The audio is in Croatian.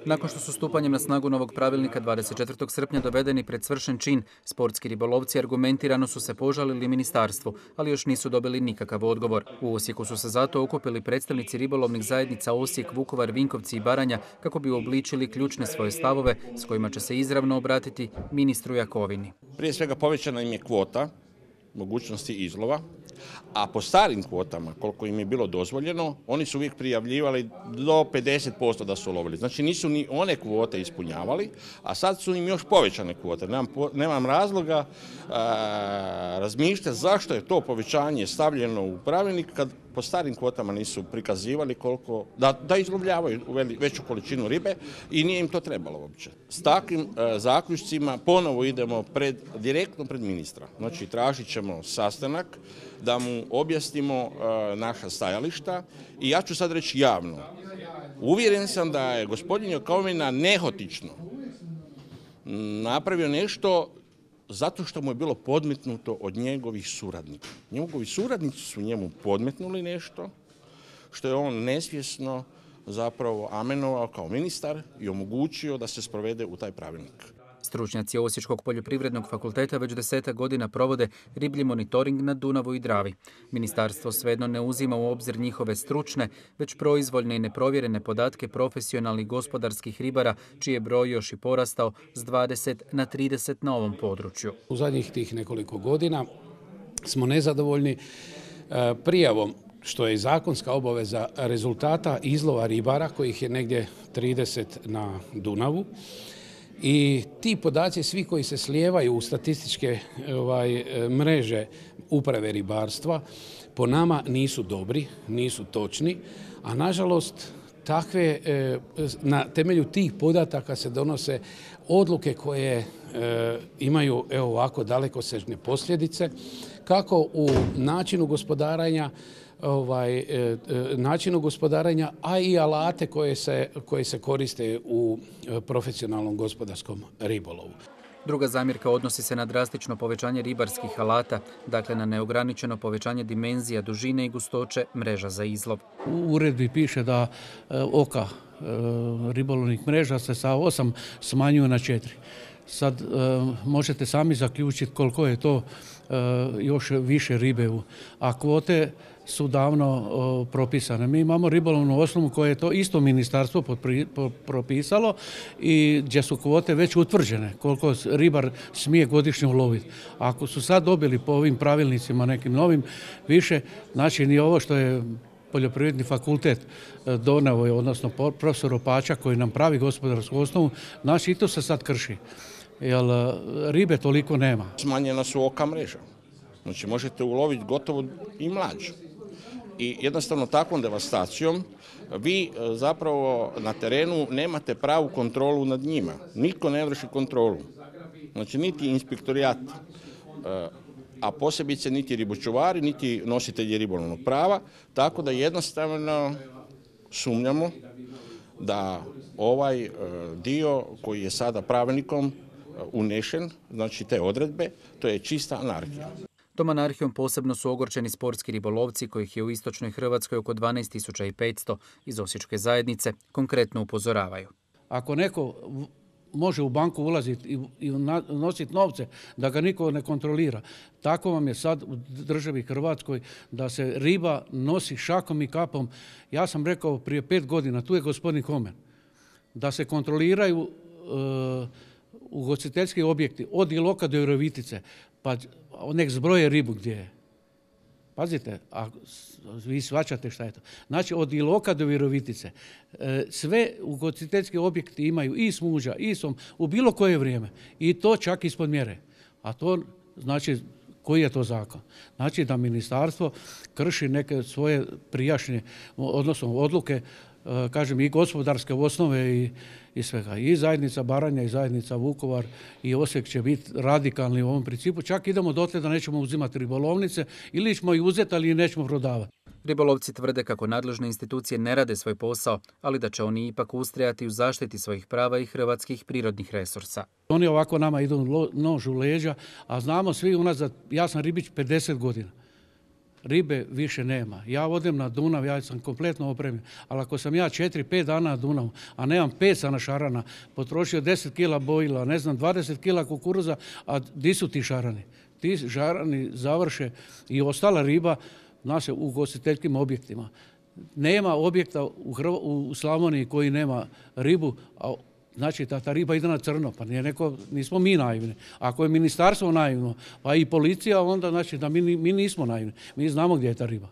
Nakon što su stupanjem na snagu novog pravilnika 24. srpnja dovedeni pred svršen čin, sportski ribolovci argumentirano su se požalili ministarstvu, ali još nisu dobili nikakav odgovor. U Osijeku su se zato okupili predstavnici ribolovnih zajednica Osijek, Vukovar, Vinkovci i Baranja kako bi uobličili ključne svoje stavove s kojima će se izravno obratiti ministru Jakovini. Prije svega povećana im je kvota mogućnosti izlova, a po starim kvotama, koliko im je bilo dozvoljeno, oni su uvijek prijavljivali do 50% da su lovili. Znači nisu ni one kvote ispunjavali, a sad su im još povećane kvote. Nemam razloga razmišljati zašto je to povećanje stavljeno u pravilnik kad po starim kvotama nisu prikazivali koliko, da izlovljavaju veću količinu ribe i nije im to trebalo uopće. S takvim zaključcima ponovo idemo direktno pred ministra. Znači tražit ćemo sastanak da mu objasnimo naša stajališta i ja ću sad reći javno. Uvjeren sam da je gospodin Jakovina nehotično napravio nešto zato što mu je bilo podmetnuto od njegovih suradnika. Njegovi suradnici su njemu podmetnuli nešto što je on nesvjesno zapravo amenovao kao ministar i omogućio da se sprovede u taj pravilnik. Stručnjaci Osječkog poljoprivrednog fakulteta već 10 godina provode riblji monitoring na Dunavu i Dravi. Ministarstvo svejedno ne uzima u obzir njihove stručne, već proizvoljne i neprovjerene podatke profesionalnih gospodarskih ribara, čiji je broj još i porastao s 20 na 30 na ovom području. U zadnjih tih nekoliko godina smo nezadovoljni prijavom, što je i zakonska obaveza, rezultata izlova ribara, kojih je negdje 30 na Dunavu. I ti podaci, svi koji se slijevaju u statističke mreže uprave ribarstva, po nama nisu dobri, nisu točni, a nažalost na temelju tih podataka se donose odluke koje imaju ovako dalekosežne posljedice, kako u načinu gospodarenja, a i alate koje se koriste u profesionalnom gospodarskom ribolovu. Druga zamjerka odnosi se na drastično povećanje ribarskih alata, dakle na neograničeno povećanje dimenzija, dužine i gustoće mreža za izlov. U uredbi piše da oka ribolovnih mreža se sa 8 smanjuju na 4. Sad možete sami zaključiti koliko je to još više ribe, a kvote su davno propisane. Mi imamo ribolovnu osnovu koje je to isto ministarstvo propisalo i gdje su kvote već utvrđene koliko ribar smije godišnje uloviti. Ako su sad dobili po ovim pravilnicima nekim novim više, znači ni ovo što je Poljoprivredni fakultet doneo, odnosno profesor Opača koji nam pravi gospodarsku osnovu, znači i to se sad krši. Jer ribe toliko nema. Smanjena su oka mreža. Znači možete uloviti gotovo i mlađu. I jednostavno takvom devastacijom vi zapravo na terenu nemate pravu kontrolu nad njima. Nitko ne vrši kontrolu. Znači niti inspektorijat, a posebice niti ribočuvari, niti nositelji ribolovnog prava. Tako da jednostavno sumnjamo da ovaj dio koji je sada pravilnikom unešen, znači te odredbe, to je čista anarhija. Tom anarhijom posebno su ogorčeni sportski ribolovci, kojih je u istočnoj Hrvatskoj oko 12.500 iz Osječke zajednice, konkretno upozoravaju. Ako neko može u banku ulaziti i nositi novce, da ga niko ne kontrolira, tako vam je sad u državi Hrvatskoj da se riba nosi šakom i kapom. Ja sam rekao prije 5 godina, tu je gospodin Homen, da se kontroliraju ugostiteljski objekti od Iloka do Virovitice, pa nek zbroje ribu gdje je. Pazite, a vi shvaćate šta je to. Znači od Iloka do Virovitice sve ugostiteljski objekti imaju i smuđa, i som u bilo koje vrijeme. I to čak ispod mjere. A to znači koji je to zakon? Znači da ministarstvo krši neke svoje prijašnje, odnosno odluke, kažem i gospodarske osnove i svega. I zajednica Baranja i zajednica Vukovar i Osijek će biti radikalni u ovom principu. Čak idemo dotle da nećemo uzimati ribolovnice ili ćemo ih uzeti, ali nećemo prodavati. Ribolovci tvrde kako nadležne institucije ne rade svoj posao, ali da će oni ipak ustrajati u zaštiti svojih prava i hrvatskih prirodnih resursa. Oni ovako nama idu nož u leđa, a znamo svi unazad, ja sam ribič 50 godina. ribe više nema. Ja odem na Dunav, ja sam kompletno opremljen, ali ako sam ja 4-5 dana na Dunavu, a nemam pesa na šarana, potrošio 10 kila bojila, ne znam, 20 kila kukuruza, a di su ti šarani? Ti šarani završe i ostala riba naše u ugostiteljskim objektima. Nema objekta u Slavoniji koji nema ribu, a znači ta riba ide na crno, pa nismo mi naivni. Ako je ministarstvo naivno, pa i policija, onda znači da mi nismo naivni. Mi znamo gdje je ta riba.